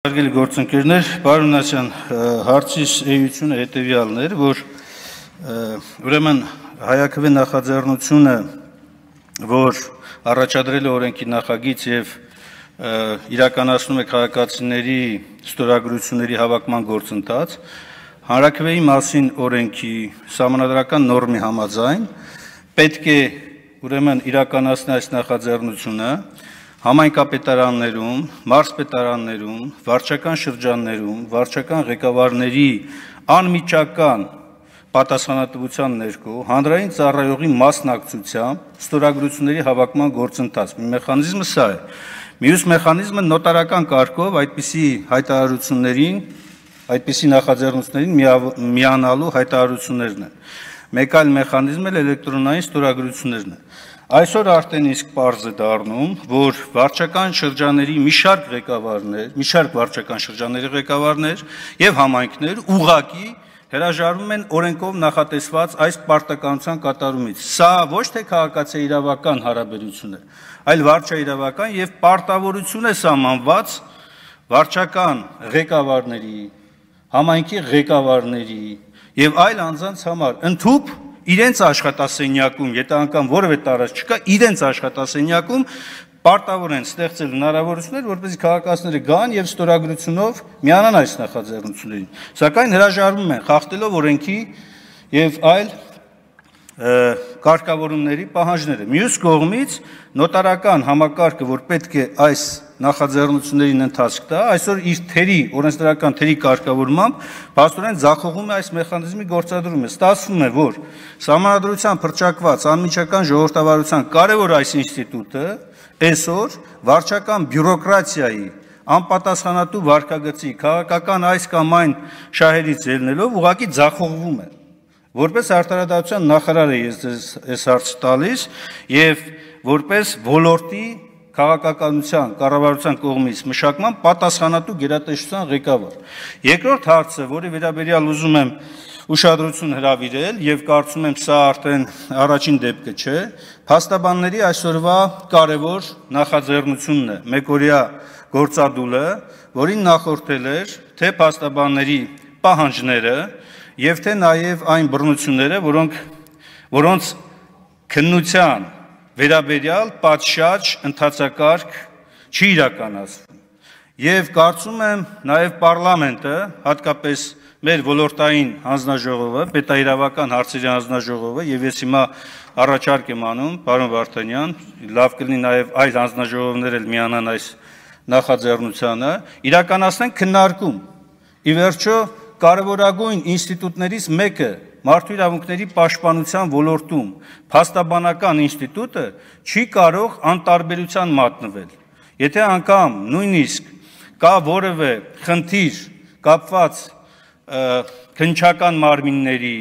Հարգելի գործընկերներ, պարոն Նասյան, հարցիս էությունը հետևյալն էր, որ ուրեմն հայաքվե նախաձեռնությունը, որ առաջադրել է օրենքի նախագիծ եւ իրականացնում է քաղաքացիների ստորագրությունների հավաքման գործընթաց, հանրաքվեի մասին օրենքի սահմանադրական նորմի համաձայն պետք է ուրեմն իրականացնել այս նախաձեռնությունը համայնքապետարաններում, մարզպետարաններում, վարչական շրջաններում, վարչական ղեկավարների անմիջական պատասխանատվության ներքո հանրային ծառայողի մասնակցությամբ ստորագրությունների հավաքման գործընթաց։ Մի մեխանիզմը սա է։ Մյուս մեխանիզմը նոտարական կարգով այդպիսի հայտարարություններին, այդպիսի նախաձեռնություններին միանալու հայտարարություններն են։ Մեկ այլ մեխանիզմ էլ էլեկտրոնային ստորագրություններն են։ Այսօր արդեն իսկ պարզ է դառնում, որ վարչական շրջանների մի շարք վարչական շրջանների ղեկավարներ եւ համայնքներ ուղղակի հրաժարվում են օրենքով նախատեսված այս պարտականության կատարումից։ Սա ոչ թե քաղաքացիական հարաբերություն է, այլ վարչաիրավական եւ պարտավորություն է սահմանված վարչական ղեկավարների, համայնքի ղեկավարների եւ այլ անձանց համար ընդհուպ իրենց աշխատասենյակում, եթե անգամ որևէ տարած չկա, իրենց աշխատասենյակում պարտավոր են ստեղծել հնարավորություններ, որպեսզի քաղաքացիները գան եւ ստորագրությունով միանան այս նախաձեռնություններին։ Սակայն հրաժարվում են խախտելով օրենքի եւ այլ կարգավորումների պահանջները։ Մյուս կողմից նոտարական համակարգը, որ պետք է այս նախաձեռնություններին ընթացք տա, այսօր իր թերի, օրենսդրական թերի կարգավորմամբ փաստորեն ձախողում է այս մեխանիզմի գործադրումը։ Ստացվում է, որ սահմանադրությամբ հռչակված անմիջական ժողովրդավարության կարևոր այս ինստիտուտը այսօր վարչական բյուրոկրատիայի անպատասխանատու վարքագծի քաղաքական այս կամ այն շահերից ելնելով ուղղակի ձախողվում է։ Որպես արտարադատության նախարար է ես այս հարցը տալիս եւ որպես ոլորտի քաղաքականության կառավարության կողմից մշակման պատասխանատու գերատեսչության ղեկավար։ Երկրորդ հարցը, որի վերաբերյալ ուզում եմ ուշադրություն հրավիրել եւ կարծում եմ սա արդեն առաջին դեպքը չէ, փաստաբանների այսօրվա կարևոր նախաձեռնությունն է, մեկօրյա գործադուլը, որին նախորդել էր թե փաստաբանների պահանջները եւ թե նաեւ այն բռնությունները, որոնց քննության վերաբերյալ պատշաճ ընթացակարգ չի իրականացվում։ Եվ կարծում եմ նաեւ պարլամենտը, հատկապես մեր ոլորտային հանձնաժողովը, պետաիրավական հարցերի հանձնաժողովը, եւ ես հիմա առաջարկ եմ անում, պարոն Վարդանյան, լավ կլինի նաեւ այլ հանձնաժողովներ էլ միանան այս նախաձեռնությանը, իրականացնեն քննարկում։ Ի վերջո կարևորագույն ինստիտուտներից մեկը մարդու իրավունքների պաշտպանության ոլորտում փաստաբանական ինստիտուտը չի կարող անտարբերության մատնվել։ Եթե անգամ նույնիսկ կա որևէ խնդիր կապված քննչական մարմինների,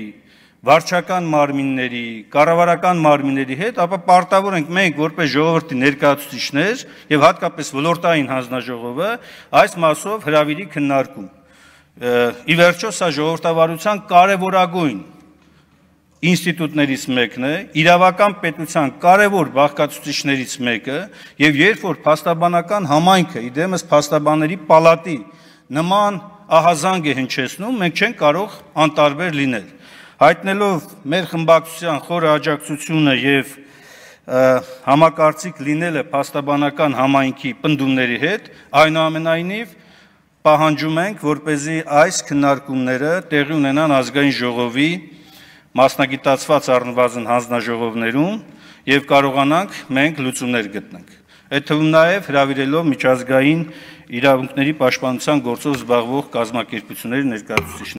վարչական մարմինների, կառավարական մարմինների հետ, ապա պարտավոր ենք մենք որպես ժողովրդի ներկայացուցիչներ եւ հատկապես ոլորտային հանձնաժողովը այս մասով հրավիրի քննարկում։ Ի վերջո սա ժողովրդավարության կարևորագույն ինստիտուտներից մեկն է, իրավական պետության կարևոր բաղկացուցիչներից մեկը, եւ երբ որ փաստաբանական համայնքը, իդեմս փաստաբանների պալատի նման ահազանգ է հնչեցնում, մենք չենք կարող անտարբեր լինել։ Հայտնելով մեր խմբակցության խորը աջակցությունը եւ համակարծիք լինելը փաստաբանական համայնքի պնդումների հետ, այնուամենայնիվ պահանջում ենք, որպեսզի այս քննարկումները տեղի ունենան ազգային ժողովի մասնագիտացված առնվազն հանձնաժողովներում եւ կարողանանք մենք լուծումներ գտնենք։ Այդ թվում նաեւ հրավիրելով միջազգային իրավունքների պաշտպանության գործով զբաղվող կազմակերպությունների ներկայացուցիչներ։